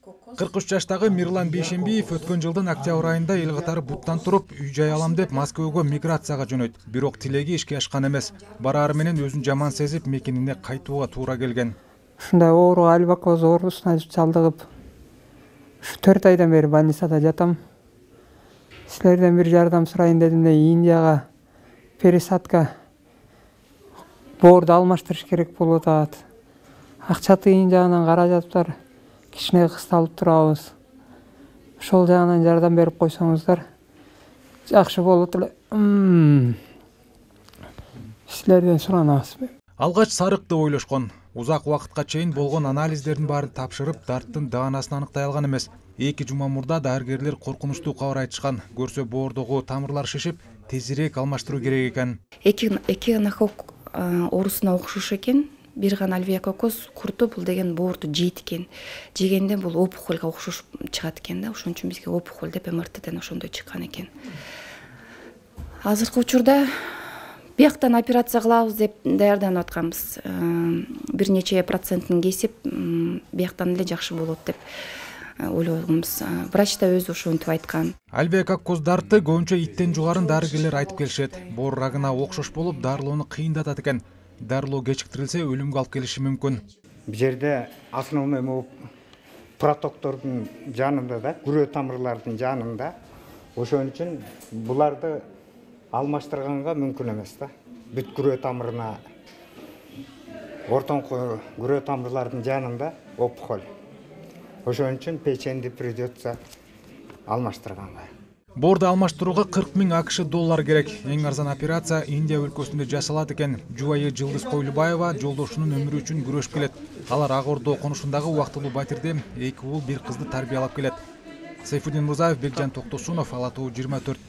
43 жаштагы Мирлан Бейшембиев өткөн жылдын октябрь айында эл катары буттан туруп үй жай алам деп Москвага миграцияга жөнөйт. Бирок тилеги ишке ашкан эмес. Бараары менен өзүн жаман сезип, мекенине кайтууга туура келген. Ушундай оору альбакоз оорусуна чалдыгып, 4 айдан бери больницада жатам. Силерден бир жардам сурайын дедим де Индияга пересадка боорду алмаштырыш керек болуп атат. Акча тыйын жагынан каражаттар кичине кысталып турабыз. Ошол жагынан жардам берип койсоңуздар жакшы болот эле. Силерден суранабыз. Алгач сарыкты ойлошкон. Узак убакытка чейин болгон анализдердин баарын тапшырып, дарттын даанасын аныктай алган эмес. 2 жума мурда дарыгерлер коркунучтуу кабар айтышкан. Көрсө боордогу тамырлар шишип, тезирээк алмаштыруу керек экен. Эки анахок оорусуна окшош экен. Бир гана альвеококоз курту бул деген боорду жейт экен. Жегенде бул опухольго окшош чыгат экен да. Ошон үчүн бизге опухоль деп МРТден ошондой чыккан экен. Азыркы учурда бияктан операция кылабыз деп даярданып атканбыз. Бир нече процентин кесип, бияктан эле жакшы болот деп ойлогонбуз. Врач да өзү ошентип айткан. Альвеококоз дарты көбүнчө иттен жугарын дарыгерлер айтып келишет. Боор рагына окшош болуп, дарылоону кыйындатат экен. Дарылоо кечиктирилсе өлүмгө алып келиши мүмкүн. Бул жерде основной протоктордун жанында да, күрөө тамырлардын жанында. Ошон үчүн буларды алмаштырганга мүмкүн эмес да. Бүт күрөө тамырына, ортоңку күрөө тамырлардын жанында опухоль. Ошон үчүн печенди придется алмаштырганга. Боорду алмаштырууга 40 000 АКШ доллар керек. Эң арзан операция Индия өлкөсүндө жасалат экен. Жубайы Жылдыз Койлубаева жолдошунун өмүрү үчүн күрөшүп келет. Алар Ак Ордо конушундагы убактылуу батирде 2 уул 1 кызды тарбиялап келет. Сайфуддин Мурзаев, Бекжан Токтосунов, Ала Тоо 24.